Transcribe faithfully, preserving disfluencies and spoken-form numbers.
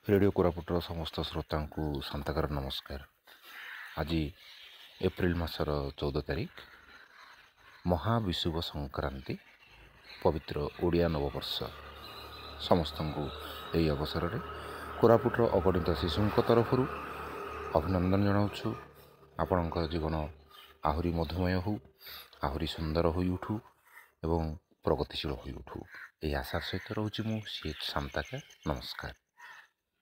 Radio କୋରାପୁଟର ସମସ୍ତ ଶ୍ରୋତାଙ୍କୁ ଶାନ୍ତାକର ନମସ୍କାର। ଆଜି ଏପ୍ରିଲ ମାସର ଚଉଦ ତାରିଖ, ମହାବିଷୁବ ସଂକ୍ରାନ୍ତି, ପବିତ୍ର ଓଡ଼ିଆ ନବବର୍ଷ। ସମସ୍ତଙ୍କୁ ଏହି ଅବସରରେ କୋରାପୁଟର ଅଗଣିତ ଶିଶୁଙ୍କ ତରଫରୁ ଅଭିନନ୍ଦନ ଜଣାଉଛୁ। ଆପଣଙ୍କ ଜୀବନ ଆହୁରି ମଧୁମୟ ହେଉ, ଆହୁରି ସୁନ୍ଦର ହୋଇଉଠୁ ଏବଂ ପ୍ରଗତିଶୀଳ ହୋଇଉଠୁ, ଏହି ଆଶା ସହିତ ରହୁଛି ମୁଁ ସି ଏଚ୍ ଶାନ୍ତାକାର। ନମସ୍କାର।